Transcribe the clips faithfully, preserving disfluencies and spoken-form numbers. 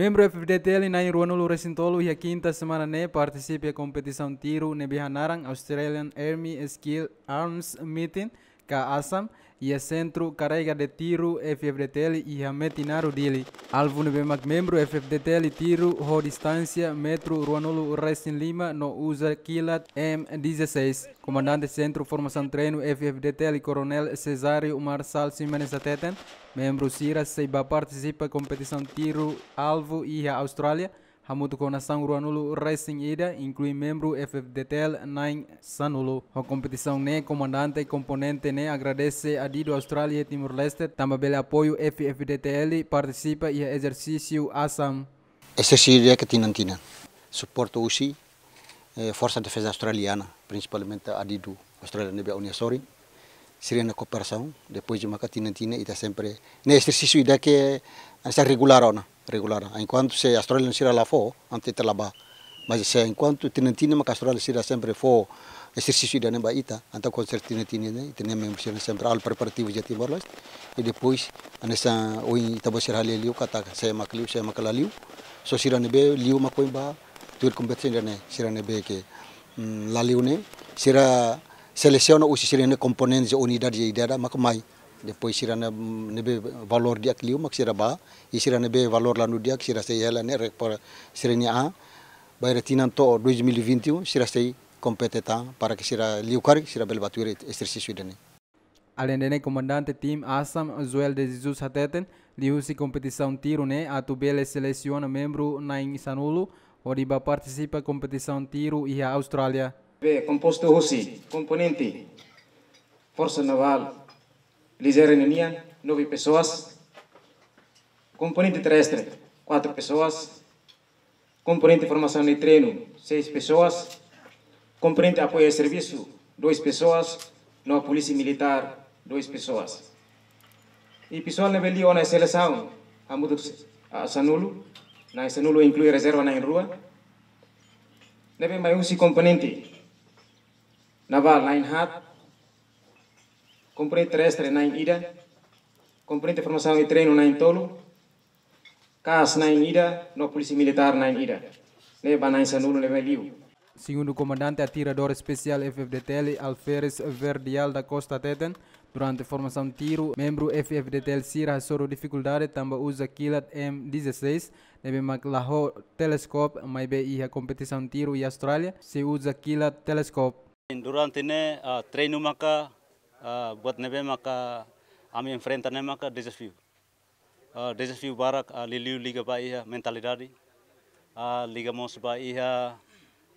Membru F F D T L na'in ruanulu resin tolu iha kinta semana ne'e partisipa iha kompetisaun tiru ne'ebé hanaran Australian Army Skill Arms Meeting ka ASAM, iha Sentru Karrega de Tiro F F D T L iha Metinaro, Dili. Alvu ne'ebé mak membru F F D T L tiru ho distánsia metru ruanulu resin lima no uza kilat M dezasseis. Komandante Sentru Formasaun Treinu F F D T L Koronél Cesário Marçal Ximenes hateten, membru sira sei bá partisipa kompetisaun tiru alvu iha Austrália, hamutuk ho nasaun ruanulu resin ida, inklui membru F F D T L na'in sanulu. Ho kompetisaun ne'e, komandante komponente ne'e agradese adidu Austrália iha Timor-Leste, tanba bele apoiu F F D T L partisipa iha ezersísiu ASAM. Ezersísiu di'ak tinan-tinan. Suporta husi, eh, Forsa Defeza Australiana, prinsipalmente adidu Austrália ne'ebé ha'u-nia sorin. Sira-nia kooperasaun, depois de maka tinan-tinan ita sempre. Ne'e ezersísiu ida ke, ah, sai regulár ona, regulár. Enkuantu se Austrália sira la fó, entaun ita la bá. Mas se enkuantu tinan-tinan maka Austrália sira sempre fó ezersísiu ida-ne'e ba ita, entaun konserteza tinan-tinan ne'e, ita-nia membru sira sempre halo preparativu iha Timor-Leste. I depois, hanesan ohin ita-boot sira haree liu katak, sé mak liu, sé mak la liu. Só sira ne'ebé liu mak ohin bá tuir kompetisaun ida-ne'e, sira ne'ebé ke, mm, la liu ne'e, sira selesiona husi sira-nia komponente, unidade ida-idak mak mai. Depois sira ne'e, mm, ne'ebé valór di'ak liu mak sira bá, i sira ne'ebé valór la di'ak sira sei hela ne'e, re-, para sira-nia an, bainhira tinan to'o dois mil e vinte e um, sira sei kompete tan, para ke sira liu karik, sira bele bá tuir ezersísiu ida-ne'e. Aleinde ne'e, komandante tim ASAM, Joel de Jesus hateten, liuhusi kompetisaun tiru ne'e atu bele selesiona membru na'in sanulu, hodi bá partisipa kompetisaun tiru iha Austrália. Be kompostu husi komponente Forsa Navál Lijeira ninian, nove pessoas, komponente terrestre, quatro pessoas, komponente formasaun i treinu, seis pessoas, komponente apoiu i servisu, dois pessoas, no Polísia Militár, dois pessoas. I pesoál ne'ebé liu ona selesaun, hamutuk, ah, sanulu, na'in sanulu inklui rezerva na'in rua. Ne'ebé mai husi komponente navál na'in haat, komponente terrestre na'in ida, komponente formasaun i treinu na'in tolu, kas na'in ida, no Polísia Militár na'in ida. Ne'e ba na'in sanulu ne'ebé liu. Segundu komandante atiradór espesiál F F D T L, Alferes Verdial da Costa hateten, durante formasaun tiru, membru F F D T L sira hasoru difikuldade tanba uza kilat M dezasseis, ne'ebé mak la ho teleskópiu, maibé iha kompetisaun tiru iha Austrália, sei uza kilat teleskópiu. Durante ne'e, ah, treinu maka, ah, buat ne'ebé maka ami enfrenta ne'e maka dezafiu. Ah, dezafiu barak, ah, liuliu liga ba iha mentalidade, ah, liga mós ba iha,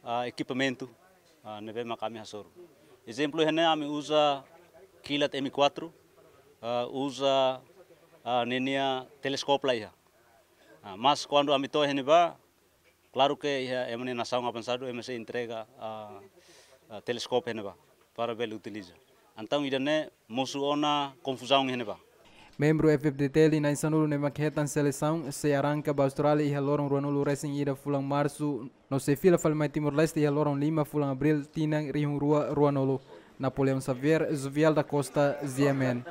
ah, ekipamentu, ah, ne'ebé maka ami hasoru. Ezemplu, iha ne'e ami uza kilat M quatro, ah, uza, ah, ninia teleskópiu la iha. Ah, mas kuandu ami to'o iha ne'ebá, klaru ke iha ema nia nasaun avansadu, ema sei entrega, ah, ah, teleskópiu iha ne'ebá para bele utiliza. Entaun ida-ne'e mosu ona konfuzaun iha ne'ebá. Membru F F D T L na'in sanulu ne'ebé mak hetan selesaun sei arranka ba Austrália iha loron ruanulu resin ida fulan Marsu, no sei fila fali mai Timor-Leste iha loron lima fulan Abríl tinan rihun rua ruanulu. Napoleão Xavier, Jovial da Costa, G M N.